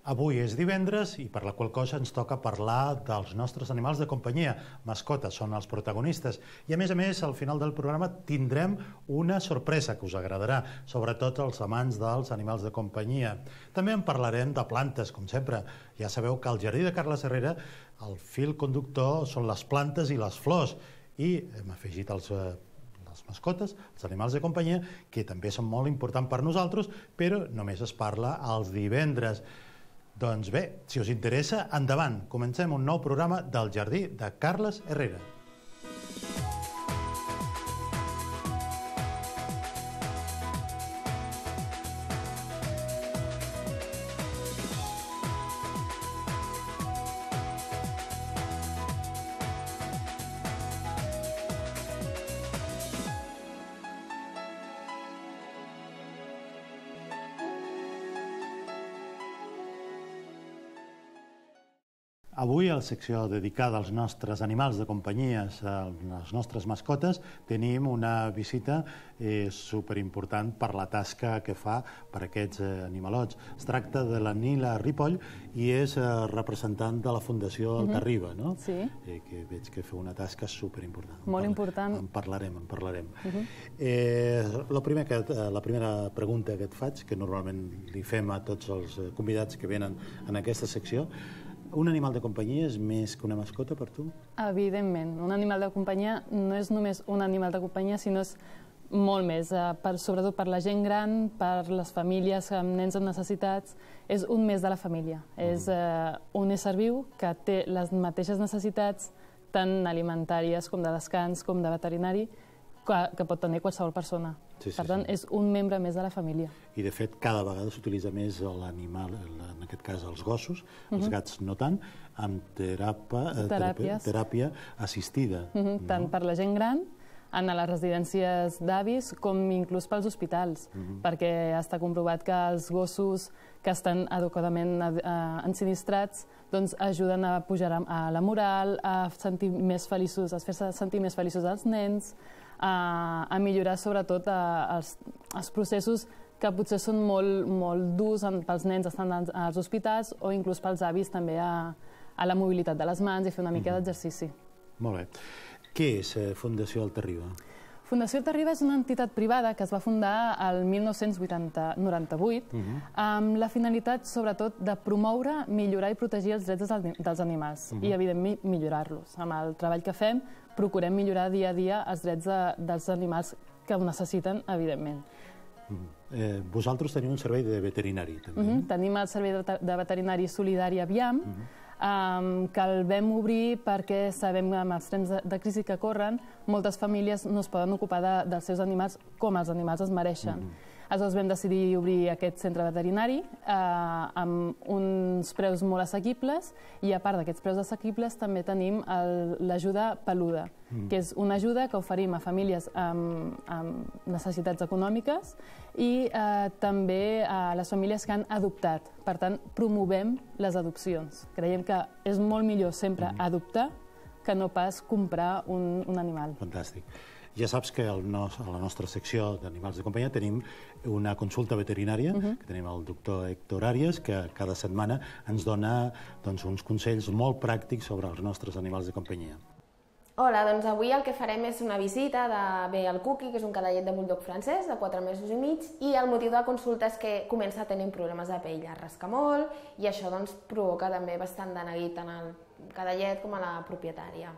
Avui és divendres i per la qual cosa ens toca parlar dels nostres animals de companyia. Mascotes són els protagonistes. I a més, al final del programa tindrem una sorpresa que us agradarà, sobretot als amants dels animals de companyia. També en parlarem de plantes, com sempre. Ja sabeu que al Jardí de Carles Herrera el fil conductor són les plantes i les flors. I hem afegit les mascotes, els animals de companyia, que també són molt importants per nosaltres, però només es parla els divendres. Doncs bé, si us interessa, endavant. Comencem un nou programa del Jardí de Carles Herrera. Avui, a la secció dedicada als nostres animals de companyia, a les nostres mascotes, tenim una visita superimportant per la tasca que fa per aquests animalots. Es tracta de la Nila Ripoll i és representant de la Fundació Altarriba, no? Sí. Que veig que fa una tasca superimportant. Molt important. En parlarem. La primera pregunta que et faig, que normalment li fem a tots els convidats que venen en aquesta secció, un animal de companyia és més que una mascota per tu? Evidentment. Un animal de companyia no és només un animal de companyia, sinó és molt més. Sobretot per la gent gran, per les famílies amb nens amb necessitats, és un més de la família. És un ésser viu que té les mateixes necessitats, tant alimentàries com de descans, com de veterinari, que pot tenir qualsevol persona. Per tant, és un membre més de la família. I, de fet, cada vegada s'utilitza més l'animal, en aquest cas els gossos, els gats no tant, amb teràpia assistida. Tant per la gent gran, en les residències d'avis, com inclús pels hospitals, perquè està comprovat que els gossos que estan adequadament ensinistrats ajuden a pujar a la moral, a sentir més feliços, a fer-se sentir més feliços als nens, a millorar sobretot els processos que potser són molt durs pels nens estant als hospitals o inclús pels avis també a la mobilitat de les mans i fer una mica d'exercici. Molt bé. Què és Fundació Altarriba? Fundació Altarriba és una entitat privada que es va fundar el 1998 amb la finalitat, sobretot, de promoure, millorar i protegir els drets dels animals i, evidentment, millorar-los. Amb el treball que fem, procurem millorar dia a dia els drets dels animals que ho necessiten, evidentment. Vosaltres teniu un servei de veterinari, també? Tenim el servei de veterinari solidari Aviam, que el vam obrir perquè sabem que amb els temps de crisi que corren moltes famílies no es poden ocupar dels seus animals com els animals es mereixen. Aleshores vam decidir obrir aquest centre veterinari amb uns preus molt assequibles i a part d'aquests preus assequibles també tenim l'ajuda peluda, que és una ajuda que oferim a famílies amb necessitats econòmiques i també a les famílies que han adoptat. Per tant, promovem les adopcions. Creiem que és molt millor sempre adoptar que no pas comprar un animal. Fantàstic. Ja saps que a la nostra secció d'animals de companyia tenim una consulta veterinària, que tenim el doctor Héctor Arias, que cada setmana ens dona uns consells molt pràctics sobre els nostres animals de companyia. Hola, doncs avui el que farem és una visita de el Cookie, que és un cadellet de bulldog francès de 4 mesos i mig, i el motiu de la consulta és que comença a tenir problemes de pell, es rasca molt, i això provoca també bastant de neguit tant al cadellet com a la propietària.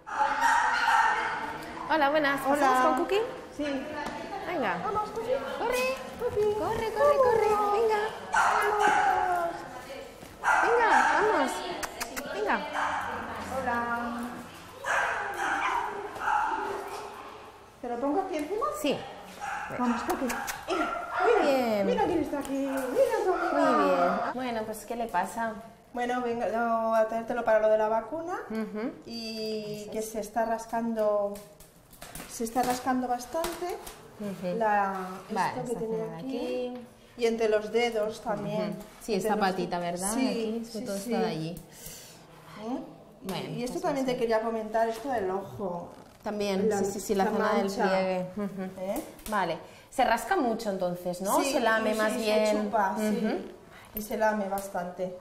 Hola, buenas. ¿Pasamos con Cookie? Sí. Venga. Vamos, Cookie. Corre. Cookie. Corre. Venga. Vamos. Venga, vamos. Venga. Hola. ¿Te lo pongo aquí encima? Sí. Vamos, Cookie. Muy bien. Mira quién está aquí. Mira tu amiga. Muy bien. Bueno, pues ¿qué le pasa? Bueno, vengo a traértelo para lo de la vacuna y que se está rascando bastante. Esto que tiene aquí. Y entre los dedos también. Sí, esta patita, ¿verdad? Sí, aquí, todo está de allí. Bueno, y esto también te quería comentar, esto del ojo. También, sí, la zona del pliegue. Vale. Se rasca mucho entonces, ¿no? Sí, se lame más bien. Se chupa, sí. Y se lame bastante.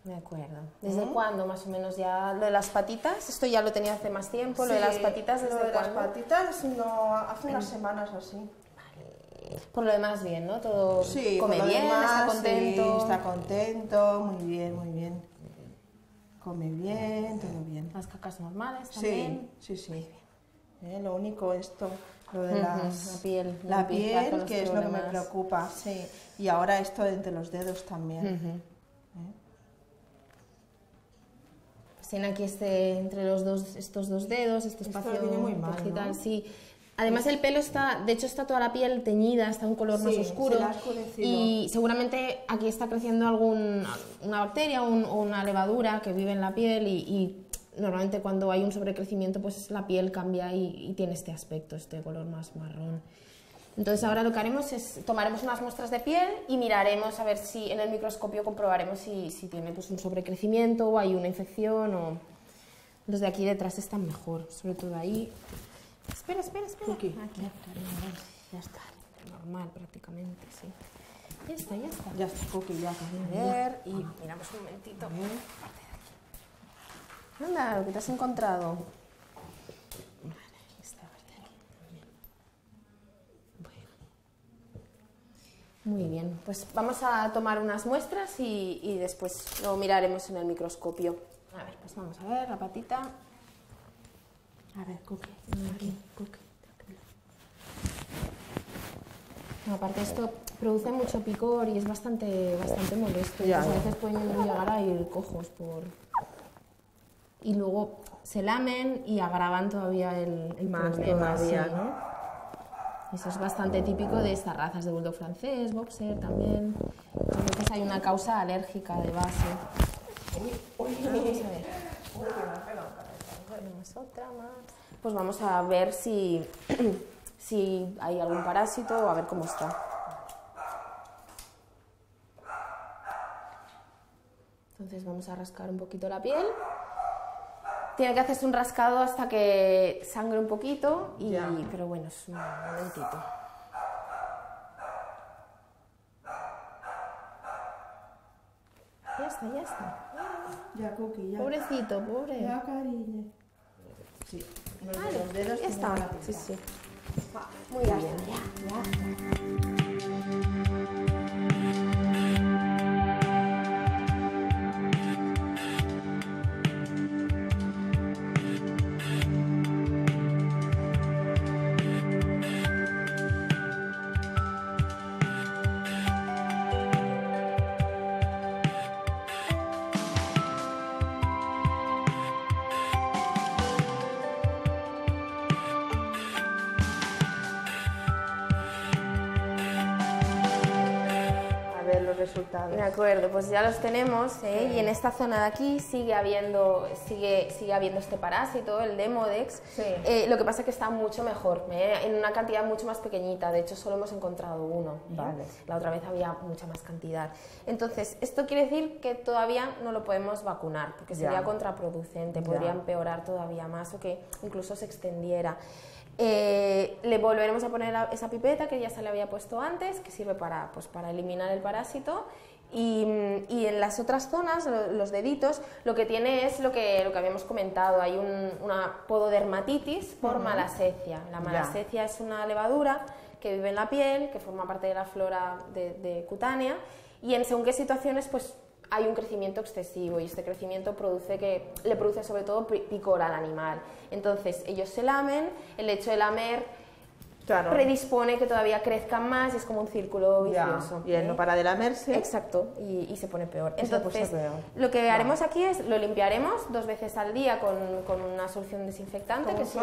De acuerdo. ¿Desde cuándo más o menos ya lo de las patitas? Esto ya lo tenía hace más tiempo, lo de las patitas, ¿desde cuándo? Lo de las patitas, no, hace unas semanas o así. Por lo demás bien, ¿no? Todo sí, come bien, está contento. Sí, está contento, muy bien, muy bien. Come bien, todo bien. Las cacas normales también. Sí, sí, sí. Lo único esto, lo de la piel, que es lo que me preocupa, sí. Y ahora esto entre los dedos también. Tiene aquí entre estos dos dedos, este espacio muy mal, digital, ¿no? sí. Además el pelo de hecho está toda la piel teñida, está un color más oscuro y seguramente aquí está creciendo una bacteria o una levadura que vive en la piel y normalmente cuando hay un sobrecrecimiento pues la piel cambia y tiene este aspecto, este color más marrón. Entonces ahora lo que haremos es tomaremos unas muestras de piel y miraremos a ver si en el microscopio comprobaremos si tiene pues, un sobrecrecimiento o hay una infección o los de aquí detrás están mejor, sobre todo ahí. Espera. Aquí. Ya está, normal prácticamente, sí. Ya está. Ya está, Cookie, ya. A ver, y miramos un momentito. Anda, lo que te has encontrado. Muy bien, pues vamos a tomar unas muestras y después lo miraremos en el microscopio. A ver, pues vamos a ver la patita. A ver, Cookie, aquí, Cookie. No, aparte esto produce mucho picor y es bastante molesto. A veces pueden llegar a ir cojos y luego se lamen y agravan todavía el problema. Todavía, sí. ¿no? Eso es bastante típico de estas razas de bulldog francés, boxer también. A veces hay una causa alérgica de base. Vamos a ver. Otra más. Pues vamos a ver si hay algún parásito o a ver cómo está. Entonces vamos a rascar un poquito la piel. Tiene que hacerse un rascado hasta que sangre un poquito, pero bueno, es un momentito. Ya está. Ya, Cookie, ya. Pobrecito, pobre. Ya, cariño. Sí, los dedos ya está. Sí. Muy bien. Ya. Resultados. De acuerdo, pues ya los tenemos, y en esta zona de aquí sigue habiendo este parásito, el Demodex. Lo que pasa es que está mucho mejor, en una cantidad mucho más pequeñita, de hecho solo hemos encontrado uno. Vale. La otra vez había mucha más cantidad. Entonces, esto quiere decir que todavía no lo podemos vacunar, porque sería contraproducente, podría empeorar todavía más o que incluso se extendiera. Le volveremos a poner esa pipeta que ya se le había puesto antes, que sirve para eliminar el parásito, y en las otras zonas, los deditos, lo que tiene es lo que habíamos comentado, hay una pododermatitis por malassezia. La malassezia es una levadura que vive en la piel, que forma parte de la flora de cutánea, y en según qué situaciones pues hay un crecimiento excesivo y este crecimiento le produce sobre todo picor al animal. Entonces ellos se lamen, el hecho de lamer predispone que todavía crezcan más y es como un círculo vicioso. Y él no para de lamerse. Exacto, y se pone peor. Entonces, lo que haremos aquí es, lo limpiaremos 2 veces al día con una solución desinfectante como que es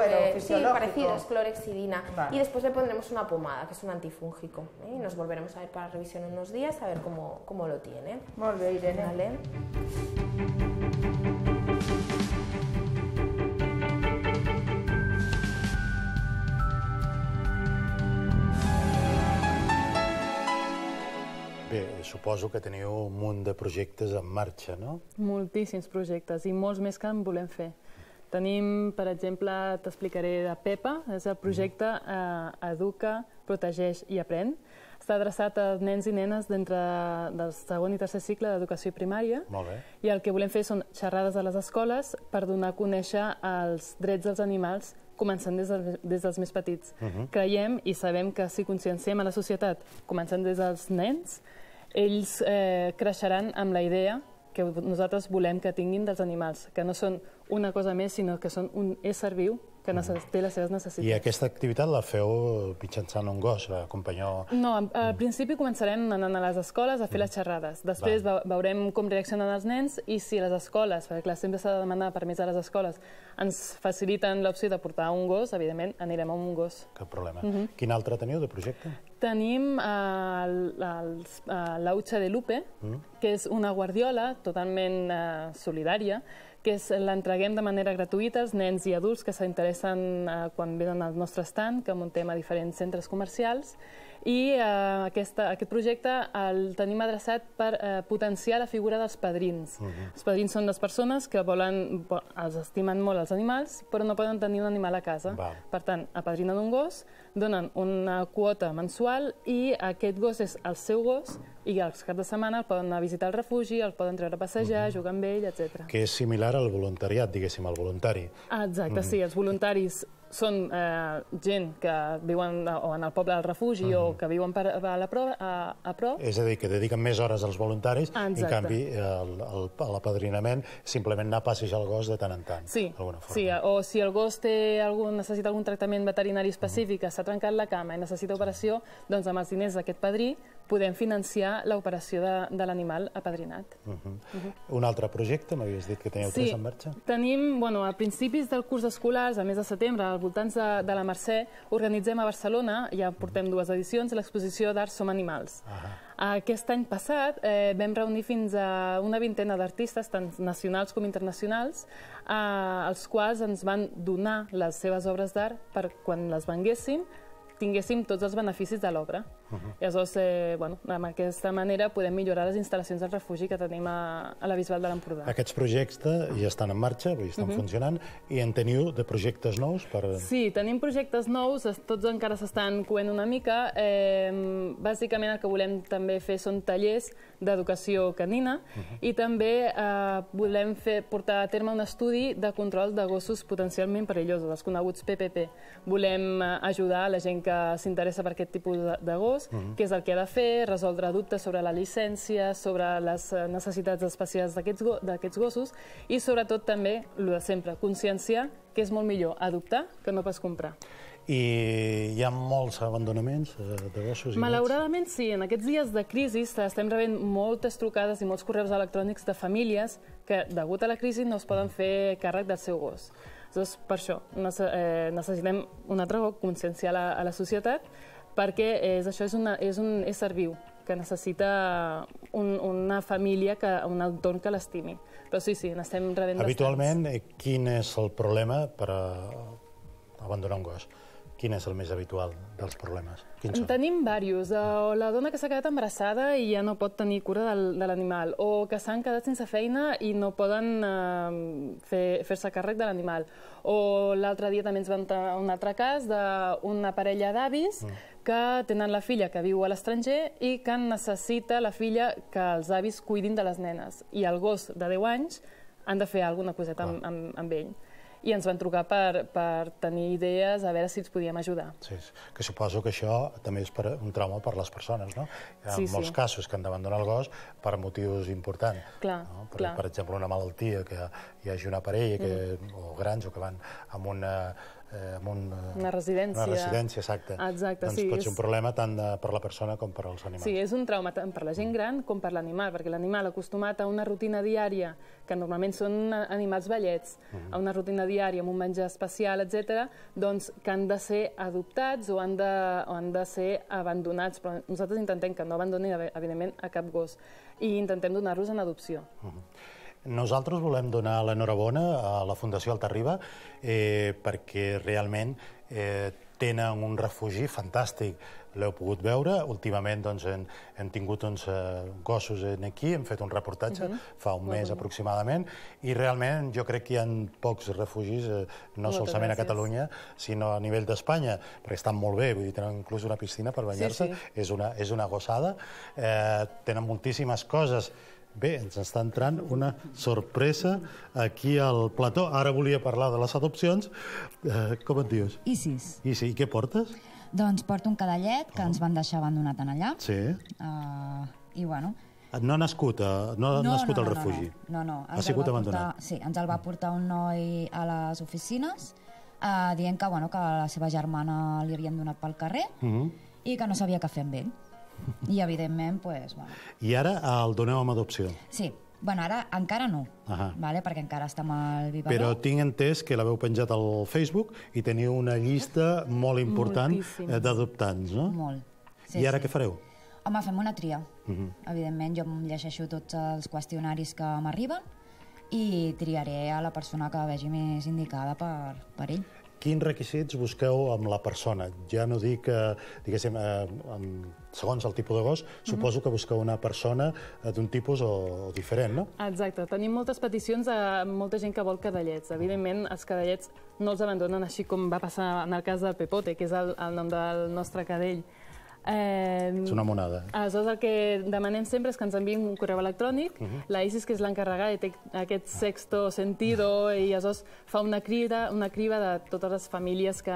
parecido, es clorexidina. Y después le pondremos una pomada, que es un antifúngico. Y nos volveremos a ver para revisión en unos días, a ver cómo lo tiene. Molt bé, Irene. Vale. Bé, suposo que teniu un munt de projectes en marxa, no? Moltíssims projectes i molts més que en volem fer. Tenim, per exemple, t'explicaré de PEPA, és el projecte Educa, Protegeix i Aprèn. està adreçat a nens i nenes d'entre del segon i tercer cicle d'educació primària. Molt bé. I el que volem fer són xerrades a les escoles per donar a conèixer els drets dels animals, començant des dels més petits. Creiem i sabem que si conscienciem a la societat, començant des dels nens, ells creixeran amb la idea que nosaltres volem que tinguin dels animals, que no són una cosa més, sinó que són un ésser viu que té les seves necessitats. I aquesta activitat la feu mitjançant un gos, companyó? No, al principi començarem anant a les escoles a fer les xerrades. Després veurem com reaccionen els nens i si les escoles, perquè clar, sempre s'ha de demanar permís a les escoles, ens faciliten l'opció de portar un gos, evidentment anirem amb un gos. Cap problema. Quin altre teniu de projecte? Tenim l'Aucha de Lupe, que és una guardiola totalment solidària, que l'entreguem de manera gratuïta als nens i adults que s'interessen quan venen al nostre stand, que muntem a diferents centres comercials, i aquest projecte el tenim adreçat per potenciar la figura dels padrins. Els padrins són les persones que els estimen molt els animals, però no poden tenir un animal a casa. Per tant, apadrinen un gos, donen una quota mensual i aquest gos és el seu gos i els caps de setmana el poden anar a visitar al refugi, el poden treure a passejar, jugar amb ell, etc. Que és similar al voluntariat, diguéssim, al voluntari. Exacte, sí. Els voluntaris són gent que viuen en el poble del refugi o que viuen a prop. És a dir, que dediquen més hores als voluntaris, en canvi l'apadrinament simplement anar a passejar el gos de tant en tant. Sí, o si el gos necessita algun tractament veterinari específic, s'ha trencat la cama i necessita operació, doncs amb els diners d'aquest padrí podem financiar l'operació de l'animal apadrinat. Un altre projecte, m'havies dit que teníeu tres en marxa? Tenim, a principis del curs escolar, al mes de setembre, al voltant de la Mercè, organitzem a Barcelona, ja portem 2 edicions, l'exposició d'Art Som Animals. Aquest any passat vam reunir fins a una vintena d'artistes, tant nacionals com internacionals, els quals ens van donar les seves obres d'art per quan les venguéssim, tinguéssim tots els beneficis de l'obra. Llavors, d'aquesta manera podem millorar les instal·lacions del refugi que tenim a la Bisbal de l'Empordà. Aquests projectes ja estan en marxa, estan funcionant, i en teniu de projectes nous? Sí, tenim projectes nous, tots encara s'estan coent una mica. Bàsicament el que volem també fer són tallers d'educació canina i també volem portar a terme un estudi de control de gossos potencialment perillosos, els coneguts PPP. Volem ajudar a la gent que s'interessa per aquest tipus de gos, què és el que ha de fer, resoldre dubtes sobre la llicència, sobre les necessitats especials d'aquests gossos i sobretot també, el de sempre, conscienciar que és molt millor adoptar que no pas comprar. I hi ha molts abandonaments de gossos? Malauradament sí, en aquests dies de crisi estem rebent moltes trucades i molts correus electrònics de famílies que, degut a la crisi, no es poden fer càrrec del seu gos. Doncs per això necessitem un altre cop conscienciar a la societat perquè això és un ésser viu que necessita una família, un entorn que l'estimi. Però sí, n'estem rebent bastants. Habitualment, quin és el problema per abandonar un gos? Quin és el més habitual dels problemes? En tenim diversos. O la dona que s'ha quedat embarassada i ja no pot tenir cura de l'animal, o que s'han quedat sense feina i no poden fer-se càrrec de l'animal. O l'altre dia també ens va entrar un altre cas d'una parella d'avis que tenen la filla que viu a l'estranger i que necessita la filla que els avis cuidin de les nenes. I el gos de 10 anys han de fer alguna coseta amb ell. I ens van trucar per tenir idees, a veure si ens podíem ajudar. Sí, que suposo que això també és un trauma per les persones, no? Hi ha molts casos que han d'abandonar el gos per motius importants. Per exemple, una malaltia, que hi hagi una parella, o grans, o que van amb una residència. Una residència, exacte. Doncs pot ser un problema tant per la persona com per als animals. Sí, és un trauma tant per la gent gran com per l'animal, perquè l'animal acostumat a una rutina diària, que normalment són animals vellets, a una rutina diària amb un menjar especial, etc., doncs que han de ser adoptats o han de ser abandonats. Però nosaltres intentem que no abandonin, evidentment, a cap gos i intentem donar-los en adopció. Nosaltres volem donar l'enhorabona a la Fundació Alta Riba perquè realment tenen un refugi fantàstic. L'heu pogut veure. Últimament hem tingut uns gossos aquí, hem fet un reportatge fa un mes aproximadament, i realment jo crec que hi ha pocs refugis, no solament a Catalunya, sinó a nivell d'Espanya, perquè estan molt bé, vull dir, tenen inclús una piscina per banyar-se, és una gossada, tenen moltíssimes coses. Bé, ens està entrant una sorpresa aquí al plató. Ara volia parlar de les adopcions. Com et dius? Isis. Isis, i què portes? Doncs porto un cadallet que ens van deixar abandonat en allà. Sí. I bueno... No ha nascut al refugi? No. Ha sigut abandonat? Sí, ens el va portar un noi a les oficines dient que la seva germana li havien donat pel carrer i que no sabia què fer amb ell. I, evidentment, doncs... I ara el doneu amb adopció? Sí. Ara encara no, perquè encara està amb el biberó. Però tinc entès que l'haveu penjat al Facebook i teniu una llista molt important d'adoptants, no? Molt. I ara què fareu? Home, fem una tria. Evidentment, jo em llegeixo tots els qüestionaris que m'arriben i triaré a la persona que vegi més indicada per ell. Quins requisits busqueu amb la persona? Ja no dic, diguéssim, segons el tipus de gos, suposo que busqueu una persona d'un tipus o diferent, no? Exacte. Tenim moltes peticions de molta gent que vol cadallets. Evidentment, els cadallets no els abandonen així com va passar en el cas del Pepote, que és el nom del nostre cadell. És una monada. Aleshores, el que demanem sempre és que ens enviïn un correu electrònic. La Isis, que és l'encarregada, té aquest sexto sentido i aleshores fa una criba de totes les famílies que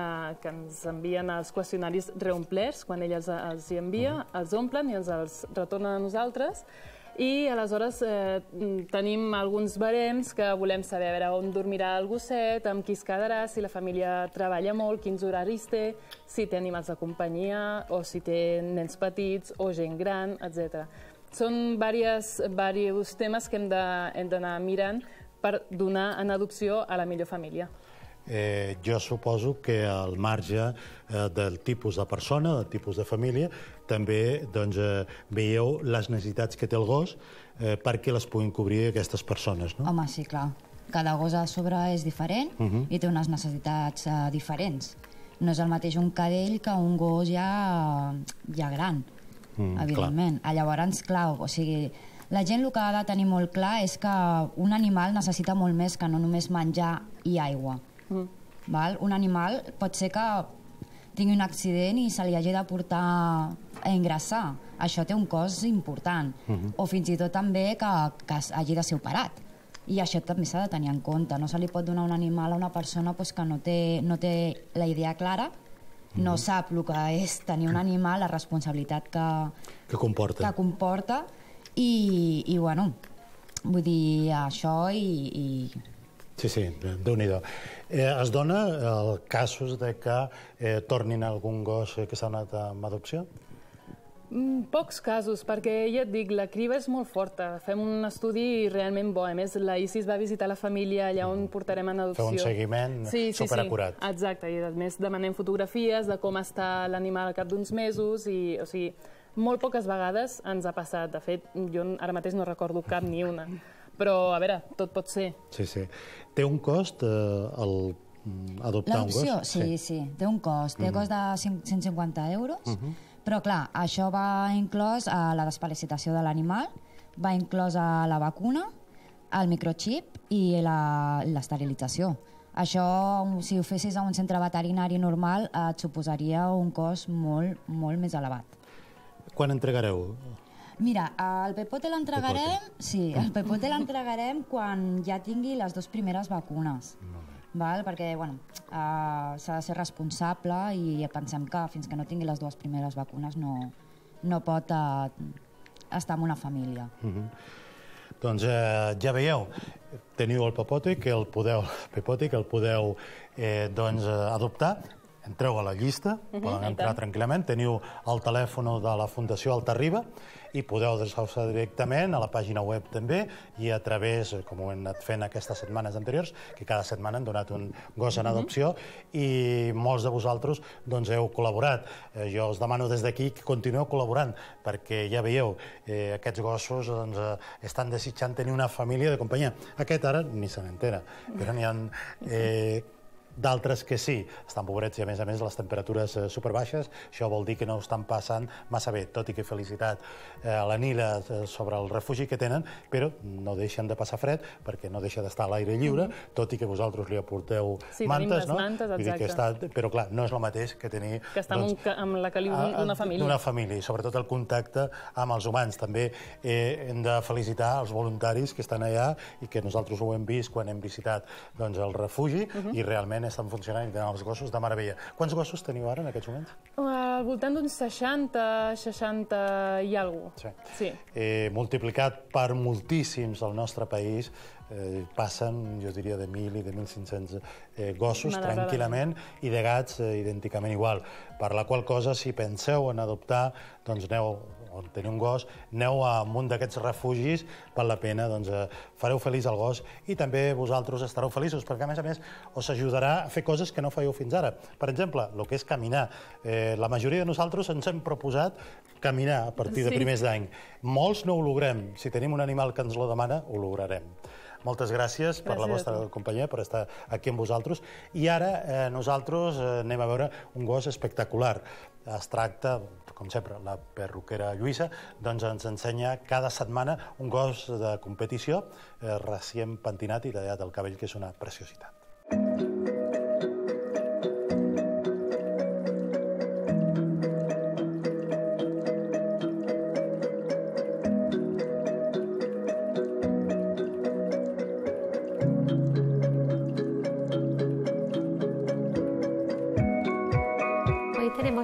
ens envien els qüestionaris reomplerts, quan ella els hi envia, els omplen i ens els retornen a nosaltres. I aleshores tenim alguns barems que volem saber a veure on dormirà el gosset, amb qui es quedarà, si la família treballa molt, quins horaris té, si té animals de companyia o si té nens petits o gent gran, etc. Són diversos temes que hem d'anar mirant per donar en adopció a la millor família. Jo suposo que al marge del tipus de persona, del tipus de família, també veieu les necessitats que té el gos perquè les puguin cobrir aquestes persones, no? Home, sí, clar. Cada gos a sobre és diferent i té unes necessitats diferents. No és el mateix un cadell que un gos ja gran, evidentment. Llavors, clar, o sigui, la gent el que ha de tenir molt clar és que un animal necessita molt més que no només menjar i aigua. Un animal pot ser que tingui un accident i se li hagi de portar a ingressar. Això té un cost important. O fins i tot també que hagi de ser operat. I això també s'ha de tenir en compte. No se li pot donar un animal a una persona que no té la idea clara, no sap el que és tenir un animal, la responsabilitat que comporta. I bueno, vull dir, això i... Sí, Déu-n'hi-do. Es dona casos de que tornin algun gos que s'ha anat amb adopció? Pocs casos, perquè ja et dic, la criba és molt forta. Fem un estudi realment bo. A més, la Isis va visitar la família allà on portarem en adopció. Feu un seguiment superacurat. Exacte, i a més demanem fotografies de com està l'animal al cap d'uns mesos. O sigui, molt poques vegades ens ha passat. De fet, jo ara mateix no recordo cap ni una. Però, a veure, tot pot ser. Sí. Té un cost adoptar un gos? L'adopció, sí, té un cost. Té cost de 150 euros, però clar, això va inclòs a la desparasitació de l'animal, va inclòs a la vacuna, el microchip i l'esterilització. Això, si ho fessis a un centre veterinari normal, et suposaria un cost molt, molt més elevat. Quan entregareu? Mira, el Pepote l'entregarem quan ja tingui les 2 primeres vacunes. Perquè s'ha de ser responsable i pensem que fins que no tingui les 2 primeres vacunes no pot estar en una família. Doncs ja veieu, teniu el Pepote, que el podeu adoptar. Entreu a la llista, poden entrar tranquil·lament, teniu el telèfon de la Fundació Alta-Riba i podeu adreçar-vos directament a la pàgina web també i a través, com ho hem anat fent aquestes setmanes anteriors, que cada setmana hem donat un gos en adopció i molts de vosaltres heu col·laborat. Jo us demano des d'aquí que continueu col·laborant perquè ja veieu, aquests gossos estan desitjant tenir una família de companyia. Aquest ara ni se n'entera, però n'hi ha d'altres que sí, estan pobrets i a més les temperatures superbaixes, això vol dir que no ho estan passant massa bé, tot i que felicitat a la Nila sobre el refugi que tenen, però no deixen de passar fred perquè no deixa d'estar a l'aire lliure, tot i que vosaltres li aporteu mantes, no? Però clar, no és el mateix que tenir... Que estar amb la caliu d'una família. D'una família, i sobretot el contacte amb els humans. També hem de felicitar els voluntaris que estan allà i que nosaltres ho hem vist quan hem visitat el refugi i realment estan funcionant i tenen els gossos de meravella. Quants gossos teniu ara en aquests moments? Al voltant d'uns 60 i alguna cosa. Sí. Multiplicat per moltíssims al nostre país, passen, jo diria, de 1.000 i de 1.500 gossos tranquil·lament i de gats idènticament igual. Per la qual cosa, si penseu en adoptar, doncs aneu, o tenir un gos, aneu a un d'aquests refugis, val la pena, fareu feliç el gos i també vosaltres estareu feliços, perquè a més us ajudarà a fer coses que no fèieu fins ara. Per exemple, el que és caminar. La majoria de nosaltres ens hem proposat caminar a partir de primers d'any. Molts no ho logrem. Si tenim un animal que ens lo demana, ho lograrem. Moltes gràcies per la vostra companyia, per estar aquí amb vosaltres. I ara nosaltres anem a veure un gos espectacular. Es tracta, com sempre, la perruquera Lluïsa, doncs ens ensenya cada setmana un gos de competició recient pentinat i tallat el cabell, que és una preciositat.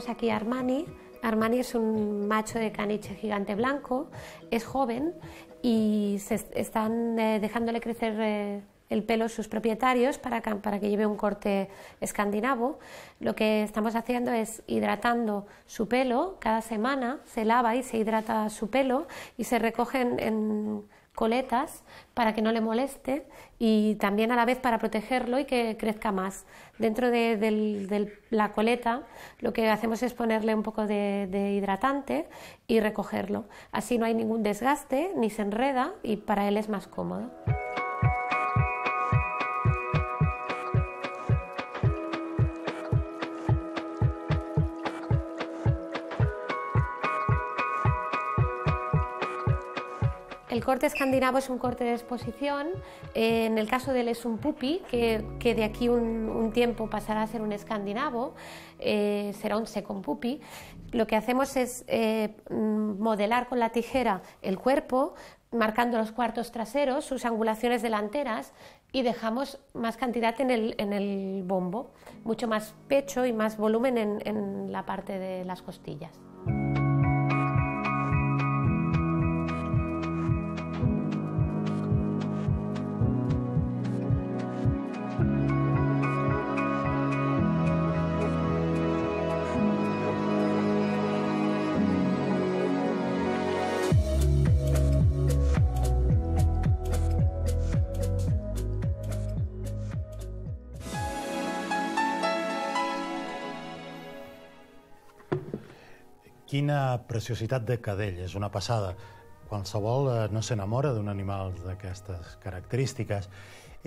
Aquí Armani. Armani es un macho de caniche gigante blanco, es joven y se están dejándole crecer el pelo sus propietarios para que lleve un corte escandinavo. Lo que estamos haciendo es hidratando su pelo, cada semana se lava y se hidrata su pelo y se recogen en coletas para que no le moleste y también a la vez para protegerlo y que crezca más. Dentro de la coleta lo que hacemos es ponerle un poco de hidratante y recogerlo. Así no hay ningún desgaste ni se enreda y para él es más cómodo. El corte escandinavo es un corte de exposición. En el caso de él es un pupi, que de aquí un tiempo pasará a ser un escandinavo, será un second pupi. Lo que hacemos es modelar con la tijera el cuerpo, marcando los cuartos traseros, sus angulaciones delanteras y dejamos más cantidad en el bombo, mucho más pecho y más volumen en la parte de las costillas. Quina preciositat de cadell, és una passada. Qualsevol no s'enamora d'un animal d'aquestes característiques.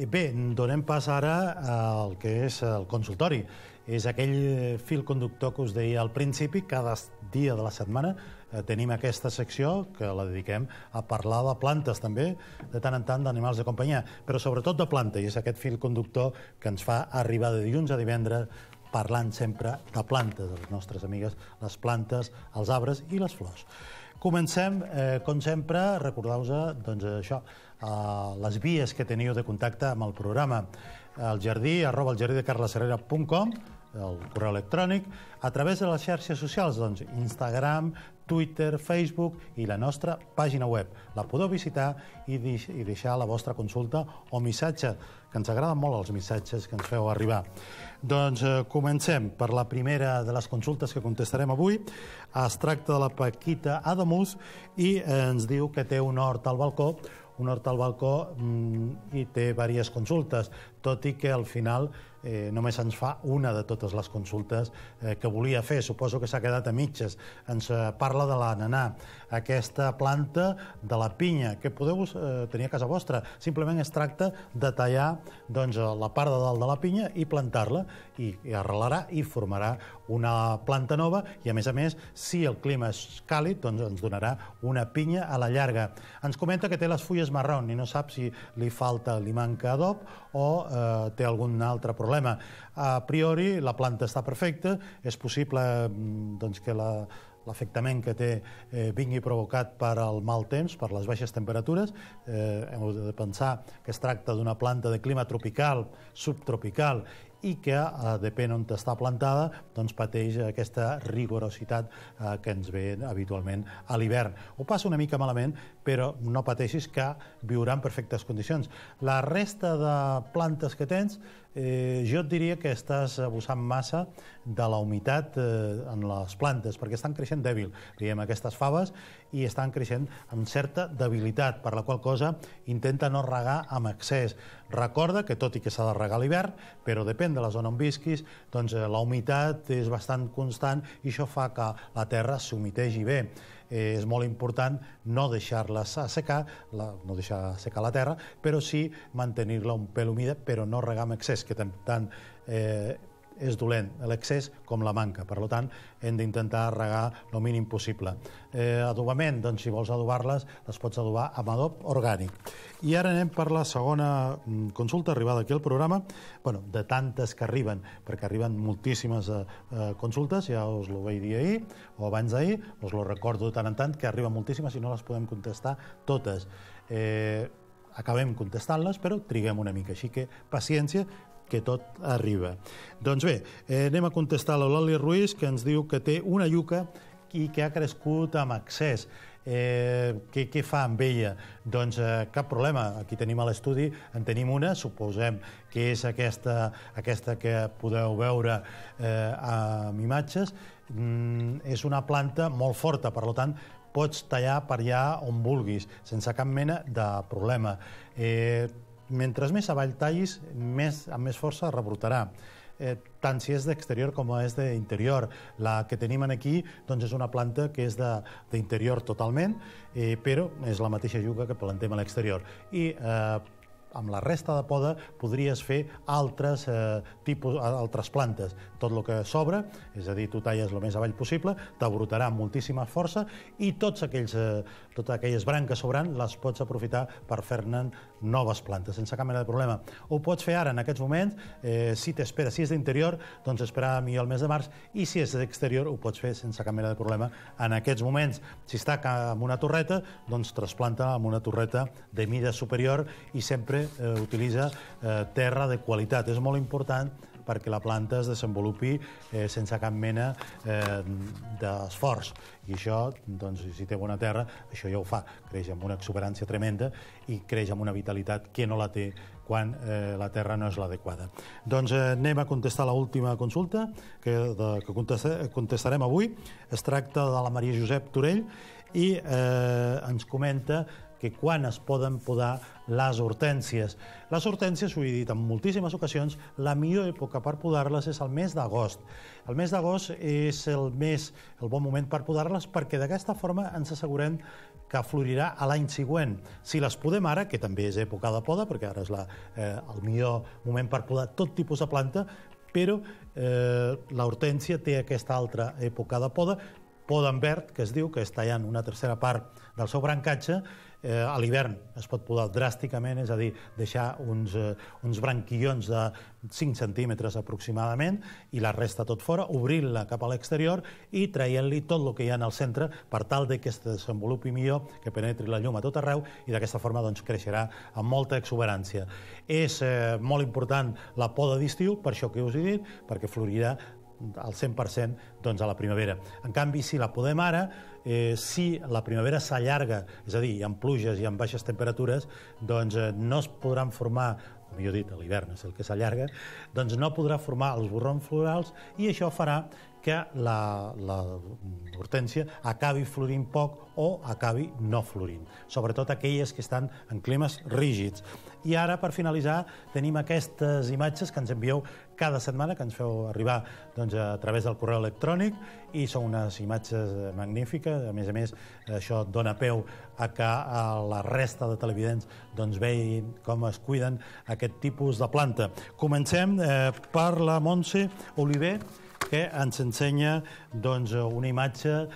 Bé, donem pas ara al que és el consultori. És aquell fil conductor que us deia al principi, cada dia de la setmana tenim aquesta secció que la dediquem a parlar de plantes també, de tant en tant d'animals de companyia, però sobretot de planta, i és aquest fil conductor que ens fa arribar de dilluns a divendres parlant sempre de plantes, de les nostres amigues, les plantes, els arbres i les flors. Comencem, com sempre, recordeu-vos això, les vies que teniu de contacte amb el programa. El jardí, @eljardidecarlasherrera.com, el correu electrònic, a través de les xarxes socials, doncs Instagram, Twitter, Facebook i la nostra pàgina web. La podeu visitar i deixar la vostra consulta o missatge, que ens agraden molt els missatges que ens feu arribar. Doncs comencem per la primera de les consultes que contestarem avui. Es tracta de la Paquita Adamus i ens diu que té un hort al balcó i té diverses consultes, tot i que al final només ens fa una de totes les consultes que volia fer. Suposo que s'ha quedat a mitges. Ens parla de l'ananà, aquesta planta de la pinya, que podeu tenir a casa vostra. Simplement es tracta de tallar la part de dalt de la pinya i plantar-la, i arrelarà i formarà una planta nova, i a més, si el clima és càlid, doncs ens donarà una pinya a la llarga. Ens comenta que té les fulles marrons i no sap si li manca adob o té algun altre problema. A priori, la planta està perfecta, és possible que l'afectament que té vingui provocat per el mal temps, per les baixes temperatures. Heu de pensar que es tracta d'una planta de clima tropical, subtropical, i que, depèn on està plantada, doncs pateix aquesta rigorositat que ens ve habitualment a l'hivern. Ho passa una mica malament, però no pateixis, que viurà en perfectes condicions. La resta de plantes que tens, jo et diria que estàs abusant massa de la humitat en les plantes, perquè estan creixent dèbil. Diguem, aquestes faves, i estan creixent amb certa debilitat, per la qual cosa intenta no regar amb excés. Recorda que, tot i que s'ha de regar a l'hivern, però depèn de la zona on visquis, doncs la humitat és bastant constant i això fa que la terra s'humitegi bé. És molt important no deixar-les assecar, no deixar assecar la terra, però sí mantenir-la un pèl humida, però no regar amb excés, que tant és dolent l'excés com la manca. Per tant, hem d'intentar regar el mínim possible. Adobament, doncs si vols adobar-les, les pots adobar amb adob orgànic. I ara anem per la segona consulta arribada aquí al programa, de tantes que arriben, perquè arriben moltíssimes consultes, ja us ho vaig dir ahir o abans d'ahir, us ho recordo de tant en tant, que arriben moltíssimes i no les podem contestar totes. Acabem contestant-les, però triguem una mica, així que paciència, que tot arriba. Doncs bé, anem a contestar l'Eulàlia Ruiz, que ens diu que té una iuca i que ha crescut amb excés. Què fa amb ella? Doncs cap problema. Aquí tenim a l'estudi, en tenim una, suposem que és aquesta que podeu veure amb imatges. És una planta molt forta, per tant, pots tallar per allà on vulguis, sense cap mena de problema. Mentre més avall tallis, amb més força rebrotarà, tant si és d'exterior com és d'interior. La que tenim aquí és una planta que és d'interior totalment, però és la mateixa iuca que plantem a l'exterior. I amb la resta de poda podries fer altres plantes. Tot el que sobra, és a dir, tu talles el més avall possible, t'abrotarà amb moltíssima força i totes aquelles branques sobrant les pots aprofitar per fer-ne noves plantes, sense cap mena de problema. Ho pots fer ara, en aquests moments, si és d'interior, doncs esperar millor el mes de març, i si és d'exterior ho pots fer sense cap mena de problema en aquests moments. Si està amb una torreta, doncs trasplanta amb una torreta de mida superior i sempre utilitza terra de qualitat. És molt important perquè la planta es desenvolupi sense cap mena d'esforç. I això, doncs, si té bona terra, això ja ho fa. Creix amb una exuberància tremenda i creix amb una vitalitat que no la té quan la terra no és l'adequada. Doncs anem a contestar l'última consulta que contestarem avui. Es tracta de la Maria Josep Torell i ens comenta que quan es poden podar les hortències. Les hortències, ho he dit en moltíssimes ocasions, la millor època per podar-les és el mes d'agost. El mes d'agost és el bon moment per podar-les, perquè d'aquesta forma ens assegurem que florirà a l'any següent. Si les podem ara, que també és època de poda, perquè ara és el millor moment per podar tot tipus de planta, però l'hortènsia té aquesta altra època de poda, poda en verd, que es diu, que és tallant una tercera part del seu brancatge. A l'hivern es pot podar dràsticament, és a dir, deixar uns branquillons de 5 centímetres aproximadament i la resta tot fora, obrir-la cap a l'exterior i traient-li tot el que hi ha en el centre per tal que es desenvolupi millor, que penetri la llum a tot arreu i d'aquesta forma creixerà amb molta exuberància. És molt important la poda d'estiu, per això que us he dit, perquè florirà al 100% a la primavera. En canvi, si la podem ara, si la primavera s'allarga, és a dir, amb pluges i amb baixes temperatures, doncs no es podran formar, o millor dit, a l'hivern és el que s'allarga, doncs no podrà formar els borrons florals i això farà que l'hortènsia acabi florint poc o acabi no florint, sobretot aquelles que estan en climes rígids. I ara, per finalitzar, tenim aquestes imatges que ens envieu cada setmana, que ens feu arribar a través del correu electrònic, i són unes imatges magnífiques. A més, això dona peu a que la resta de televidents vegin com es cuiden aquest tipus de planta. Comencem per la Montse Oliver, que ens ensenya una imatge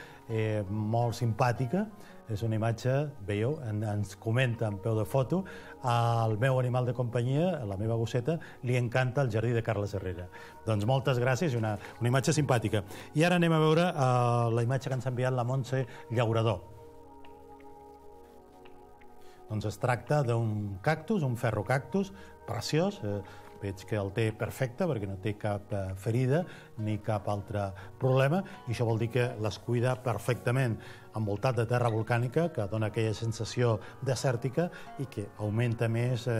molt simpàtica. És una imatge, veieu, ens comenta en peu de foto: al meu animal de companyia, la meva gosseta, li encanta el jardí de Carles Herrera. Doncs moltes gràcies, una imatge simpàtica. I ara anem a veure la imatge que ens ha enviat la Montse Llaurador. Doncs es tracta d'un cactus, un ferrocactus, preciós. Veig que el té perfecte perquè no té cap ferida ni cap altre problema, i això vol dir que les cuida perfectament, envoltat de terra volcànica, que dona aquella sensació desèrtica i que augmenta més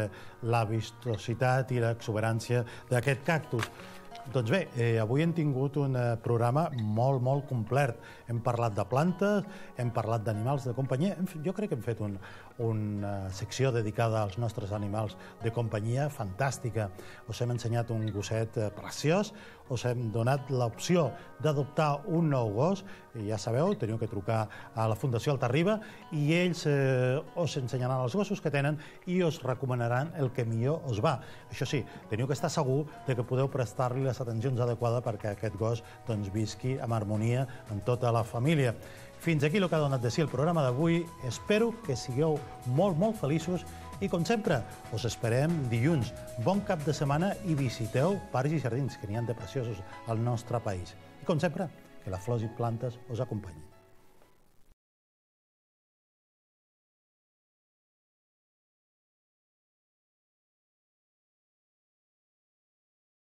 la vistositat i l'exuberància d'aquest cactus. Doncs bé, avui hem tingut un programa molt, molt complet. Hem parlat de plantes, hem parlat d'animals de companyia. Jo crec que hem fet una secció dedicada als nostres animals de companyia fantàstica. Us hem ensenyat un gosset preciós, us hem donat l'opció d'adoptar un nou gos, i ja sabeu, teniu que trucar a la Fundació Altarriba i ells us ensenyaran els gossos que tenen i us recomanaran el que millor us va. Això sí, teniu que estar segur que podeu prestar-li les atencions adequades perquè aquest gos visqui amb harmonia en tota la família. Fins aquí el que ha donat de si el programa d'avui. Espero que sigueu molt, molt feliços i, com sempre, us esperem dilluns. Bon cap de setmana i visiteu parcs i jardins, que n'hi ha de preciosos al nostre país. I, com sempre, que les flors i plantes us acompanyin.